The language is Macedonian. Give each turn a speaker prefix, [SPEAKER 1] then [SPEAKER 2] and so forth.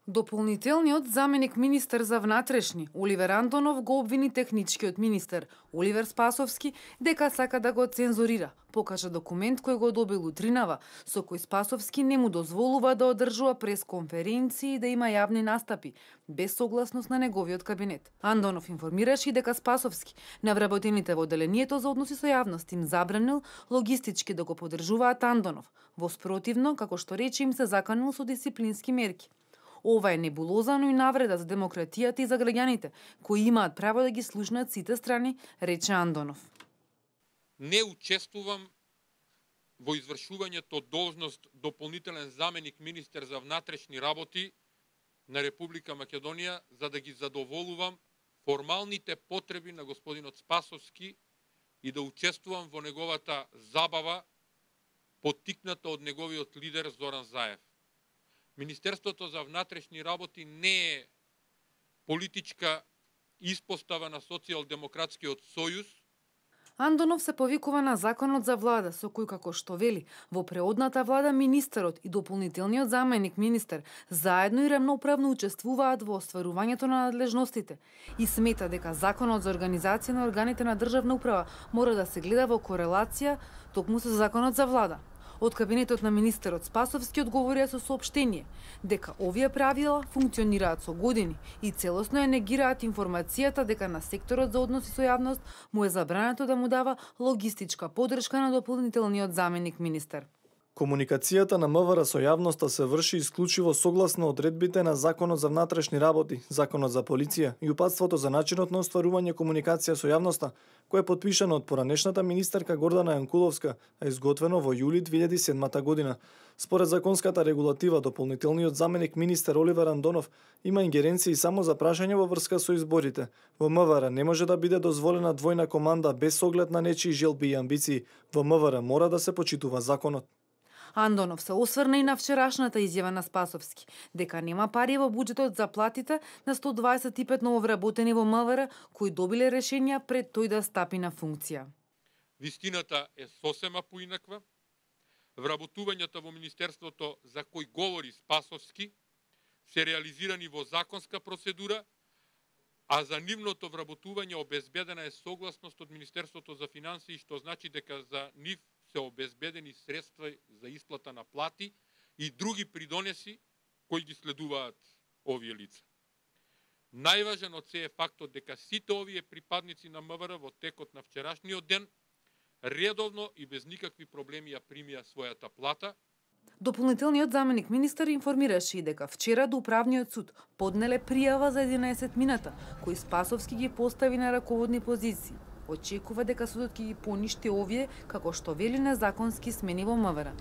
[SPEAKER 1] Дополнителниот заменик министер за внатрешни Оливер Антонов го обвини техничкиот министер Оливер Спасовски дека сака да го цензурира. Покажа документ кој го добил утринава, со кој Спасовски не му дозволува да одржува пресконференции и да има јавни настапи, без согласност на неговиот кабинет. Антонов информираше и дека Спасовски на вработените во одделението за односи со јавност им забранил логистички да го поддржуваат Антонов. Во спротивно, како што рече, им се заканил со дисциплински мерки. Ова е небулоза, но и навреда за демократијата и за граѓаните, кои имаат право да ги слушнат сите страни, рече Антонов.
[SPEAKER 2] Не учествувам во извршувањето должност дополнителен заменик министер за внатрешни работи на Република Македонија за да ги задоволувам формалните потреби на господинот Спасовски и да учествувам во неговата забава поттикната од неговиот лидер Зоран Заев. Министерството за внатрешни работи не е политичка испостава на Социјалдемократскиот сојуз.
[SPEAKER 1] Антонов се повикува на законот за влада, со кој, како што вели, во преодната влада министерот и дополнителниот заменик министер заедно и рамноправно учествуваат во остварувањето на надлежностите и смета дека законот за организација на органите на државна управа мора да се гледа во корелација токму со законот за влада. Од кабинетот на министерот Спасовски одговорија со соопштение дека овие правила функционираат со години и целосно ја негираат информацијата дека на секторот за односи со јавност му е забрането да му дава логистичка поддршка на дополнителниот заменик министер.
[SPEAKER 3] Комуникацијата на МВР со јавноста се врши исклучиво согласно одредбите на Законот за внатрешни работи, Законот за полиција и упатството за начинот на остварување комуникација со јавноста, кој е подпишано од поранешната министерка Гордана Јанкуловска, а изготвено во јули 2007 година. Според законската регулатива, дополнителниот заменик министер Оливер Антонов има ингеренции само за прашање во врска со изборите. Во МВР не може да биде дозволена двојна команда без оглед на нечии желби и амбиции. Во МВР мора да се почитува законот.
[SPEAKER 1] Антонов се осврна и на вчерашната изјава на Спасовски, дека нема пари во буџетот за платите на 125 нововработени во МВР кои добиле решенија пред тој да стапи на функција.
[SPEAKER 2] Вистината е сосема поинаква. Вработувањата во министерството за кој говори Спасовски се реализирани во законска процедура, а за нивното вработување обезбедена е согласност од Министерството за финансии, што значи дека за нив се обезбедени средства за исплата на плати и други придонеси кои ги следуваат овие лица. Најважен од се е фактот дека сите овие припадници на МВР во текот на вчерашниот ден редовно и без никакви проблеми ја примија својата плата.
[SPEAKER 1] Дополнителниот заменик министер информираше и дека вчера до управниот суд поднеле пријава за 11 мината, кои Спасовски ги постави на раководни позиции. Очекува дека судот ќе ги поништи овие, како што вели, незаконски смени во МВР.